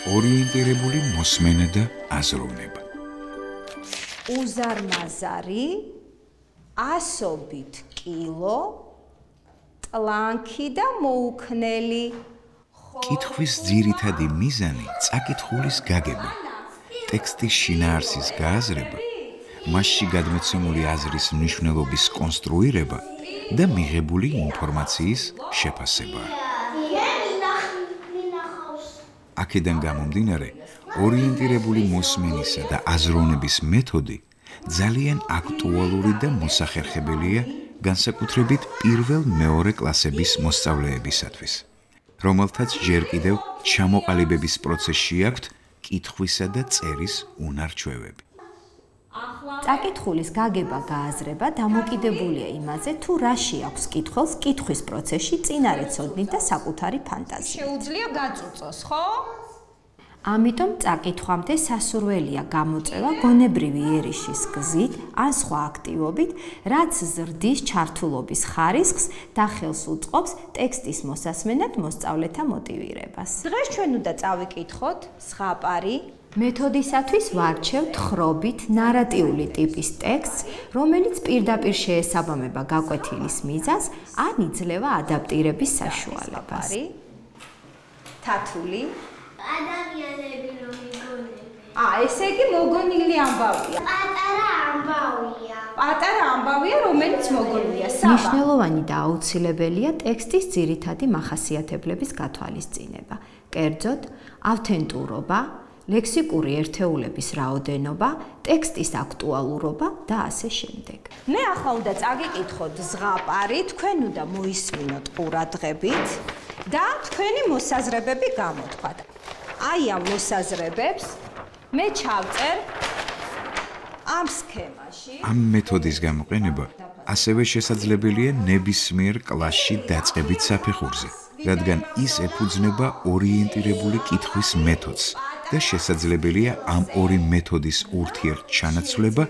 ორიენტირებული მოსმენა და აზროვნება. უზარმაზარი, ასობით კილო, ტლანქი და მოუქნელი. კითხვის ძირითადი მიზანი წაკითხულის გაგება, ტექსტის შინაარსის გააზრება, მასში გადმოცემული აზრის მნიშვნელობის კონსტრუირება და მიღებული ინფორმაციის შეფასება. აქედან გამომდინარე, ორიენტირებული მოსმენისა და აზროვნების მეთოდი ძალიან აქტუალური და მოსახერხებელია განსაკუთრებით პირველ-მეორე კლასების მოსწავლეებისათვის, რომელთაც ჯერ კიდევ ჩამოყალიბების პროცესში აქვთ კითხვისა და წერის უნარ-ჩვევები. წაკითხულის გაგება-გააზრება დამოკიდებულია იმაზე, თუ რაში აქვს კითხველს კითხვის პროცესში წინარე ცოდნით და საკუთარი ფანტაზიით. შეუძლია გაწუწოს, ხო? ამიტომ წაკითხვამდე სასურველია გამოწვევა გონებრივი ერიშის გზით ან სხვა აქტივობით, რაც ზრდის ჩართულობის ხარისხს და ხელს უწყობს ტექსტის მოსასმენად მოსწავლეთა მოტივირებას. დღეს ჩვენ უნდა წავიკითხოთ ზღაპარი. მეთოდისათვის ვარჩევთ ხრობით ნარატიული ტიპის ტექსტს, რომელიც პირდაპირ შეესაბამება გაკვეთილის მიზანს ან იძლევა ადაპტირების საშუალებას. თათული ადამიანები რომ იგონები. ესე იგი მოგონილი ამბავია. პატარა ამბავია. პატარა ამბავია, რომელიც მოგონილია. მნიშვნელოვანი და აუცილებელია ტექსტის ძირითადი მახასიათებლების გათვალისწინება. კერძოდ, ავთენტურობა, ლექსიკური ერთეულების რაოდენობა, ტექსტის აქტუალურობა და ასე შემდეგ. მე ახლა უნდა წაგიკითხოთ ზღაპარი, თქვენ უნდა მოისმინოთ ყურადღებით და თქვენი მოსაზრებები გამოთქვათ. აი ამ მოსაზრებებს მე ჩავწერ ამ სქემაში. ამ მეთოდის გამოყენება ასევე შესაძლებელია ნებისმიერ კლასში დაწყებით საფეხურზე, რადგან ის ეფუძნება ორიენტირებული კითხვის მეთოდს და შესაძლებელია ამ ორი მეთოდის ურთიერთჩანაცვლება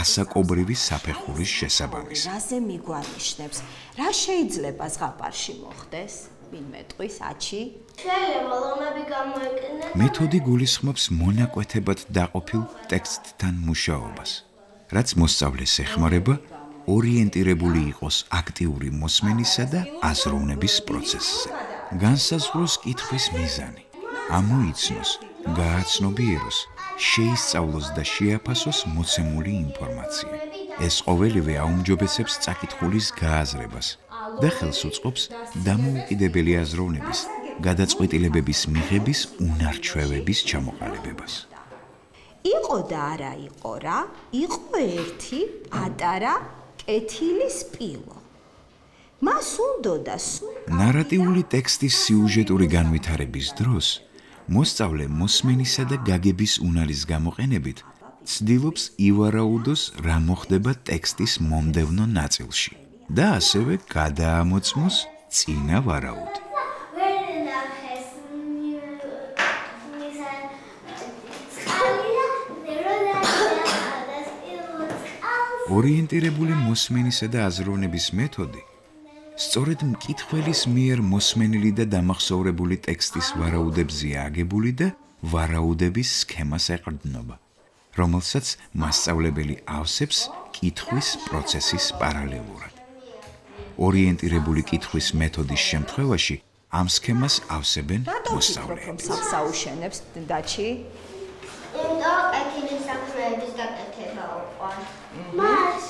ასაკობრივი საფეხურის შესაბამისად. რაზე მიგვანიშნებს? რა შეიძლება ზღაპარში მოხდეს? ვინმე ტყვის აჩი? შეიძლება ლომები გამოეკნეს. მეთოდი გულისხმობს მონაკვეთებად დაყოფილ ტექსტთან მუშაობას, რაც მოსწავლეს ეხმარება ორიენტირებული იყოს აქტიური მოსმენისა და აზროვნების პროცესზე. განსაზღვროს კითხვის მიზანი, ამოიცნოს, გააცნობიეროს, შეისწავლოს და შეაფასოს მოცემული ინფორმაცია. ეს ყოველივე აუმჯობესებს წაკითხულის გააზრებას და ხელს უწყობს დამოუკიდებელი აზროვნების, გადაწყვეტილებების მიღების უნარ-ჩვევების ჩამოყალიბებას. იყო და არა იყო რა, იყო ერთი პატარა კეთილი სპილო. მას უნდოდა ნარატიული ტექსტის სიუჟეტური განვითარების დროს მოსწავლე მოსმენისა და გაგების უნარის გამოყენებით ცდილობს ივარაუდოს, რა მოხდება ტექსტის მომდევნო ნაწილში და ასევე გადაამოწმოს წინა ვარაუდი. ორიენტირებული მოსმენისა და აზროვნების მეთოდი სწორედ მკითხველის მიერ მოსმენილი და დამახსოვრებული ტექსტის ვარაუდებზეა აგებული და ვარაუდების სქემას ეყრდნობა, რომელსაც მასწავლებელი ავსებს კითხვის პროცესის პარალელურად. ორიენტირებული კითხვის მეთოდის შემთხვევაში ამ სქემას ავსებენ მოსწავლეები. საფსაუშენებს დაჩი? კეთილი საქმეების გაკეთება უყვარს. მას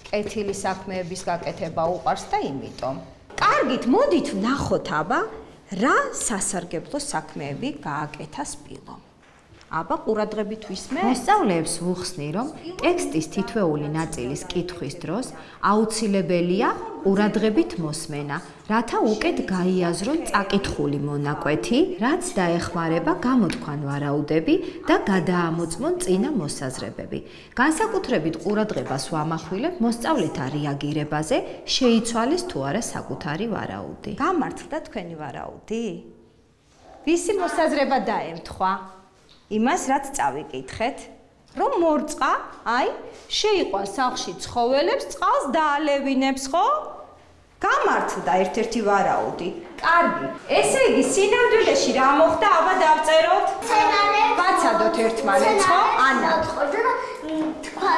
კეთილი საქმეების გაკეთება უყვარს და იმიტომ. კარგით, მოდით ვნახოთ აბა, რა სასარგებლო საქმეები გააკეთა სპილომ. აბა ყურადღებით ვისმე. მოსწავლეებს ვუხსნი, რომ ტექსტის თითოეული ნაწილის კითხვის დროს აუცილებელია ყურადღებით მოსმენა, რათა უკეთ გაიაზრონ წაკითხული მონაკვეთი, რაც დაეხმარება გამოთქვან ვარაუდები და გადაამოწმონ წინა მოსაზრებები. განსაკუთრებით ყურადღებას ვამახვილებ მოსწავლეთა რეაგირებაზე, შეიცვალეს თუ არა საკუთარი ვარაუდი. გამართლდა თქვენი ვარაუდი? ვისი მოსაზრება დაემთხვა? იმას, რაც წავიკითხეთ, რომ მორწყა, აი, შეიყვანს სახლში ცხოველებს, წყალს დაალევინებს, ხო? გამართლდა ერთ-ერთი ვარაუდი. კარგი, ესე იგი სინამდვილეში რა მოხდა, აბა დავწეროთ. ვაცადოთ ერთმანეთს, ხო? ანა. თქვა,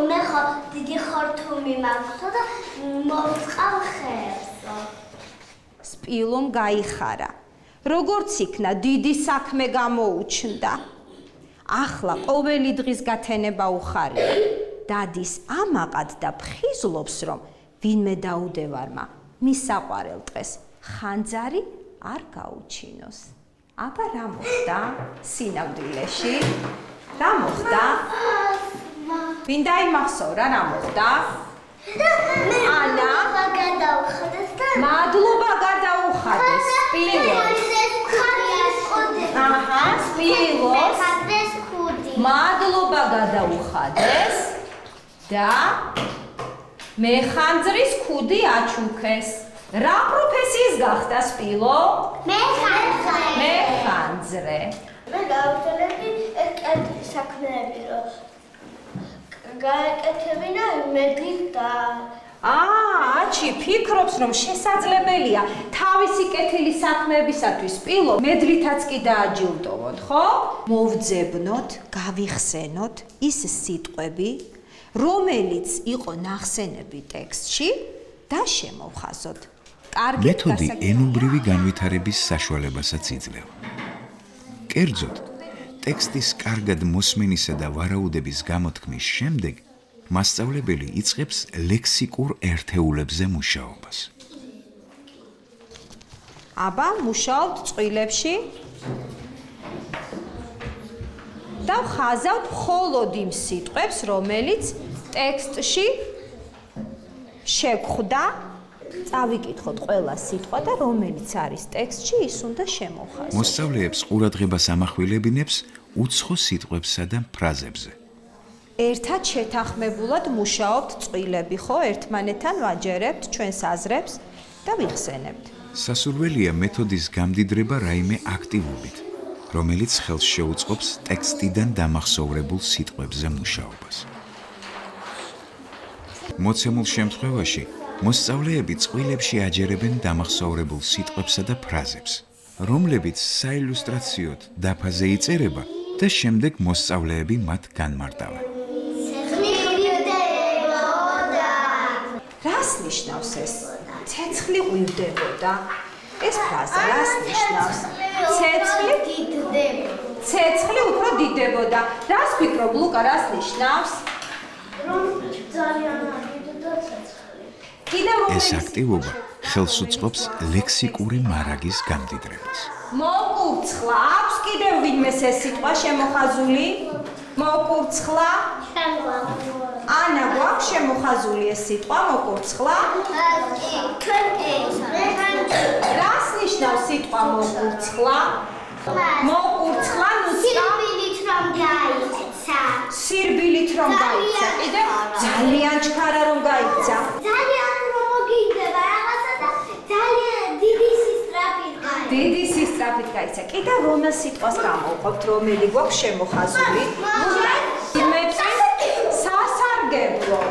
მე ხო დიდი ხორთუმი მაქვს და მოვწყავ ხერსო. სპილომ გაიხარა. როგორც იქნა, დიდი საქმე გამოუჩნდა. ახლა ყოველი დღის გათენება უხარია. დადის ამაყად და ფხიზლობს, რომ ვინმე დაუდევარმა მის საყვარელ დღეს ხანძარი არ გაუჩინოს. აბა რა მოხდა სინამდვილეში? რა მოხდა? ვინ დაიმახსოვრა რა მოხდა? ანა მადლობა გადაუხადეს სპილოს. აჰა, სპილოს მადლობა გადაუხადეს და მეხანძრის ქუდი აჩუქეს. რა პროფესიის გახდა სპილო? მეხანძრე. მე გავწელები კეთილი საქმეები, რომ გაეკეთებინა მედლით და აჩი ფიქრობს, რომ შესაძლებელია თავისი კეთილი საქმეებისათვის სპილო მედლითაც კი დააჯილდოვოთ, ხო? მოვძებნოთ, გავიხსენოთ ის სიტყვები, რომელიც იყო ნახსენები ტექსტში და შემოვხაზოთ. მეთოდი ენობრივი განვითარების საშუალებასაც იძლევა. კერძოდ, ტექსტის კარგად მოსმენისა და ვარაუდების გამოთქმის შემდეგ მასწავლებელი იწყებს ლექსიკურ ერთეულებზე მუშაობას. აბა, მუშაობთ წყვილებში და ხაზავთ მხოლოდ იმ სიტყვებს, რომელიც ტექსტში შეგვხვდა. წავიკითხოთ ყველა სიტყვა და რომელიც არის ტექსტში, ის უნდა შემოვხაზოთ. მოსწავლეებს ყურადღებას ამახვილებინებს უცხო სიტყვებსა და ფრაზებზე. ერთად შეთანხმებულად მუშაობთ წყვილები, ხო? ერთმანეთთან ვაჯერებთ ჩვენს აზრებს და ვიხსენებთ. სასურველია მეთოდის გამდიდრება რაიმე აქტივობით, რომელიც ხელს შეუწყობს ტექსტიდან დამახსოვრებულ სიტყვებზე მუშაობას. მოცემულ შემთხვევაში მოსწავლეები წყვილებში აჯერებენ დამახსოვრებულ სიტყვებსა და ფრაზებს, რომლებიც საილუსტრაციოდ დაფაზე იწერება და შემდეგ მოსწავლეები მათ განმარტავენ. რას ნიშნავს ეს? ცეცხლი ღვივდებოდა. ეს ფრაზა რას ნიშნავს? ცეცხლი უფრო დიდდებოდა. რას ფიქრობ, ლუკა, რას ნიშნავს? რომ ძალიან დიდდა ცეცხლი. ეს აქტივობა ხელს უწყობს ლექსიკური მარაგის გამდიდრებას. მოკურცხლა, აქვს კიდევ ვინმეს ეს სიტყვა შემოხაზული? მოკურცხლა? ანა, გვაქვს შემოხაზული ეს სიტყვა მოკურცხლა? რას ნიშნავს სიტყვა მოკურცხლა? მოკურცხლა სირბილით რომ გაიქცა. სირბილით რომ გაიქცა. კიდევ ძალიან ჩქარა რომ გაიქცა. ძალიან რომ მოგინდება რაღაცა და ძალიან დიდი სისწრაფით გაიქცა. დიდი სისწრაფით გაიქცა. კიდევ რომელ სიტყვას გამოვყოფთ, რომელი გვაქვს შემოხაზული? სასარგებლო.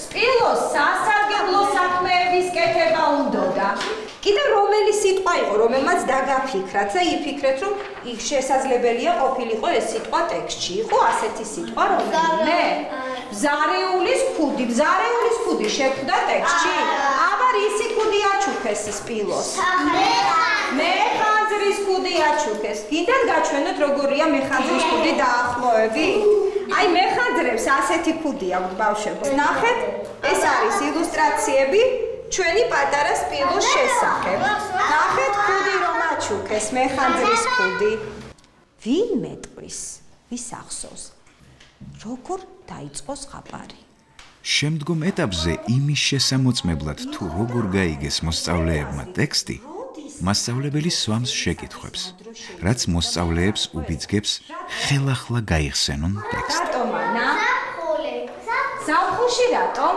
სპილოს სასარგებლო საქმეების კეთება უნდოდა. კიდევ რომელი სიტყვა იყო, რომელმაც დაგაფიქრათ და იფიქრეთ, რომ შესაძლებელია ყოფილიყო ეს სიტყვა ტექსტში. იყო ასეთი სიტყვა, რომელიმე? ბზარეულის ქუდი. ბზარეულის ქუდი შეხვდა ტექსტში? აბა რისი ქუდი აჩუქეს სპილოს? მეხანძრის ქუდი აჩუქეს. კიდევ გაჩვენოთ როგორია მეხანძრის ქუდი დაახლოები? აი მეხანძრებს ასეთი ქუდი აქვთ ბავშვებს. ნახეთ, ეს არის ილუსტრაციები ჩვენი პატარა სპილოს შესახებ. ნახეთ ქუდი რომ აჩუქეს, მეხანძრის ქუდი. ვინ მეტყვის? ვის ახსოვს? როგორ დაიწყო ზღაპარი? შემდგომ ეტაპზე იმის შესამოწმებლად თუ როგორ გაიგეს მოსწავლეებმა ტექსტი, მასწავლებელი სვამს შეკითხვებს, რაც მოსწავლეებს უბიძგებს ხელახლა გაიხსენონ ტექსტი. რატომ ანა? ზაფხულში რატომ?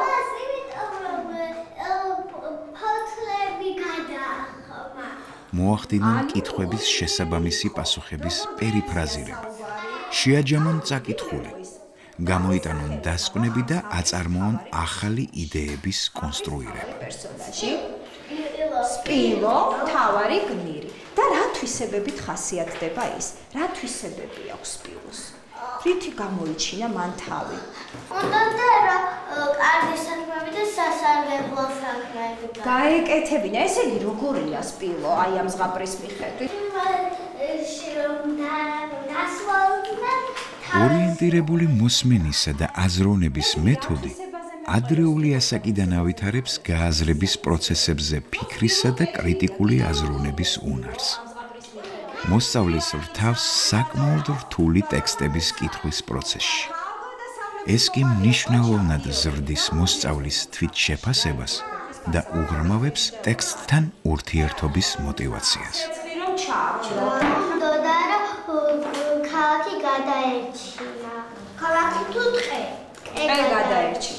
მოახდინონ კითხვების შესაბამისი პასუხების პერიფრაზირება. შეაჯამონ წაკითხული. გამოიტანონ დასკვნები და აწარმოონ ახალი იდეების კონსტრუირება. პერსონაჟი სპილო, თავარი გმირი. და რა თვისებებით ხასიათდება ის? რა თვისებები აქვს სპილოს? რითი გამოიჩინა მან თავი? უნდა რა კარგი საქმეები და სასარგებლო საქმეები. გაეკეთებინა, ესე იგი როგორია სპილო აი ამ ზღაპრის მიხედვით? ორიენტირებული მოსმენისა და აზროვნების მეთოდი ადრეული ასაკიდან ავითარებს გააზრების პროცესებზე ფიქრისა და კრიტიკული აზროვნების უნარს. მოსწავლეს რთავს საკმაოდ რთული ტექსტების კითხვის პროცესში. ეს კი მნიშვნელოვნად ზრდის მოსწავლის თვითშეფასებას და უღრმავებს ტექსტთან ურთიერთობის მოტივაციას. უნდა ქალაქი გადაერჩინა. ქალაქი თუ ტყე? ტყე გადაერჩინა.